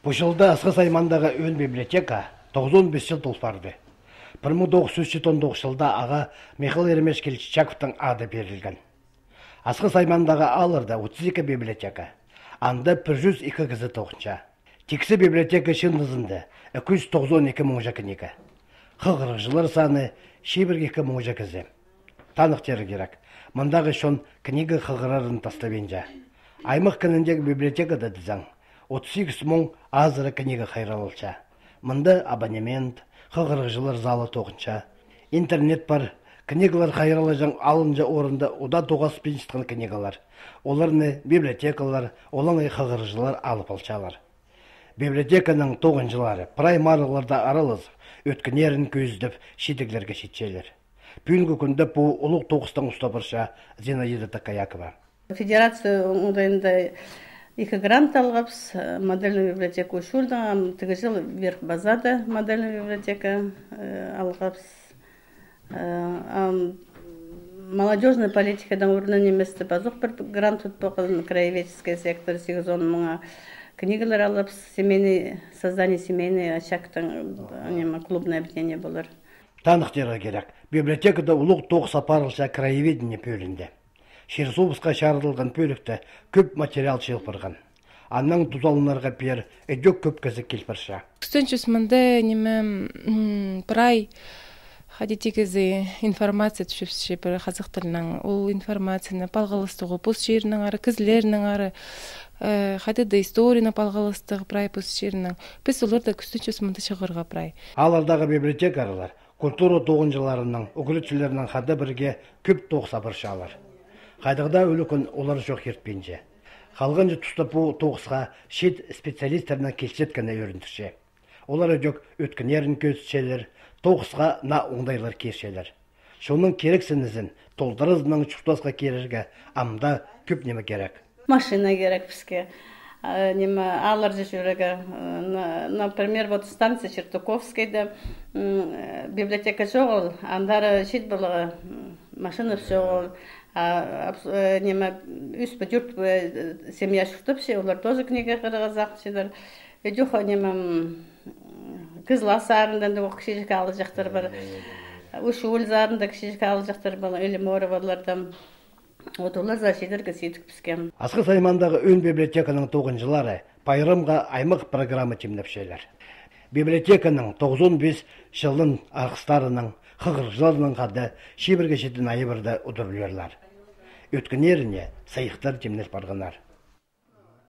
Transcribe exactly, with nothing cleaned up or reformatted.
Бұл жылда Асқы Саймандағы өн библиотека тоғыз он бес жыл толпарды. бір мың тоғыз жүз жетпіс тоғыз жылда аға Михаил Еремешкевич Чаковтың ады берілген. Асқы Саймандағы алырда отыз екі библиотека, анда бір жүз екі кізі тоғынша. Тексі библиотека шындызында екі жүз тоқсан екі мыңжа книга. Қығырықшылар саны шебір екі мыңжа кізі. Танықтері керек. Мұндағы шон книга қығырарын тастабенжа. Аймақ кініндегі библиотекада дізаң. отыз сегіз мың азыры книга қайралылша. Мұнда абонемент, қығырықшылар залы тоғынша. Интернет бар, книгалар қайралажан алынжа орында ода тоғас пен шытқан книгалар. Оларны библиотекалар, олаңай қығырықшылар алып алшалар. Библиотеканың тоғынжылары праймарыларда аралыз, өткінерін көздіп шетеглерге шетшелер. Бүгінгі күнде бұл ұлық тоғыстан ұстабырша Зинаида Такаякова. Федерация оңдайында екі грант алғапс, модельный библиотека ұшылда, тігі жыл верх базада модельный библиотека алғапс. Молодежная политикадан орнын еместі базық бір грант ұтпақылын краеведческий сектор сегіз он мыңа книгалар алғапс, семейный, создание семейный очақтың клубное объединение болар. Танықтері керек. Библиотекада ұлық тоғыз апарылша краеведение бөлінді. Шерсобысқа шарылған бөлікті көп материал шелпірған. Анның тұзалынарға бер әдек көп кізі келпірша. Күстенчіс мұнда неме прай хадетегізі информация түшіпсі бір қазық тілінің. Ол информацияны палғалыстығы пұс жерінің ары, кізлерінің ары, хадеда историяны палғалыстығы прай пұс жерінің. Біз оларда күстенчіс мұнда шығырға прай. Алардағы библиотекарылар культура тоғынжыларының, үкілетшілерінің қады бірге көп тоғса бір шалар. Қайдығда өлікін олар жоқ ертпенже. Қалғанжы тұста бұл тоғысқа шет специалистерінің келсеткені өріндірше. Олар өдек өткінерін көзшелер, тоғысқа на оңдайлар кершелер. Шоның керексінізін толдырызының чұқтасқа керерге амда көп неме керек. Машина керек бізге. Алар же жүрегі, например, вот станция Чертуковскайда библиотека жоғыл, андары шет бұлығы машина жоғыл, үс бұдюрт семья шықтыпшы, олар тоже книга қырғазақ шедер. Өдіға кызла сарындан да кішежік алы жақтар бар, үш өл зарында кішежік алы жақтар бар, өлі моры барлардан. Отолар зашедерге сетік піскен. Асқы Саймандағы өн библиотеканың тоғынжылары пайрымға аймақ программа темнепшелер. Библиотеканың тоғыз он бес жылын арқыстарының, қығыржыларының қады шебірге шетін айыбырда ұдырлерлар. Өткінеріне сайықтар темнес барғанар.